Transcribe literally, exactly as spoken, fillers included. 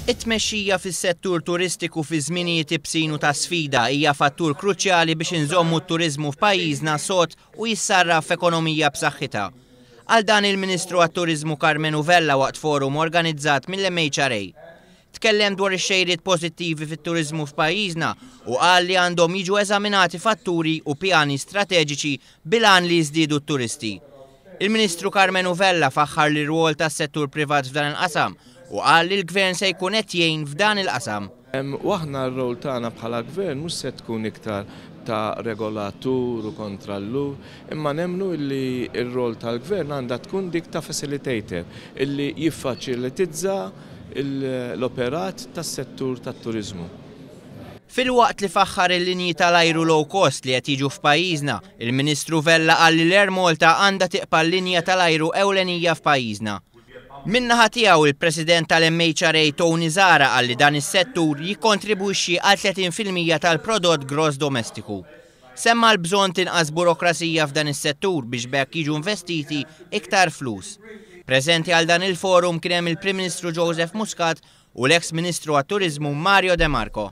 It-tmexxija fis-settur turistiku fi żminijiet ibsin u ta' sfida hija fattur kruċjali biex inżommu t-turiżmu f'pajjiżna sod u jissarraf f'ekonomija b'saħħitha. Qal dan il-Ministru għat-Turiżmu Karmenu Vella waqt forum organizzat mill-M H R A. Tkellem dwar ix-xejriet pożittivi fit-turiżmu f'pajjiżna u qal li għandhom jiġu eżaminati fatturi u pjani strateġiċi bil-għan li jiżdiedu t-turisti. Il-Ministru Karmenu Vella faħħar l-rwol tas-settur privat f'dan il-qasam u qal li l-gvern se jkun qed jgħin f'dan il-qasam. U aħna r-rol tagħna bħala gvern mhux se tkun iktar ta' regolatur u kontrollur, imma nemmnu illi r-rol tal-gvern għandha tkun dik ta' facilitator, illi jiffaċilitizza l-operat tas-settur tat-turizmu. Filwaqt li faħħar il-linji tal-ajru low cost li qed jiġu f'pajjiżna, il-Ministru Vella qal li l-Air Malta għandha tibqa' l-linja tal-ajru ewlenija f'pajjiżna. Min-naħa tiegħu, il-President tal-M H R A Tony Zahra qal li dan is-settur jikkontribwixxi għal tletin fil-mija tal-prodott gross domestiku. Semma l-bżonn tinqas burokrasija f'dan is-settur biex b'hekk jiġu investiti iktar flus. Preżenti għal dan il-forum kien hemm il-Prim Ministru Joseph Muscat u l-ex Ministru għat-Turizmu Mario De Marco.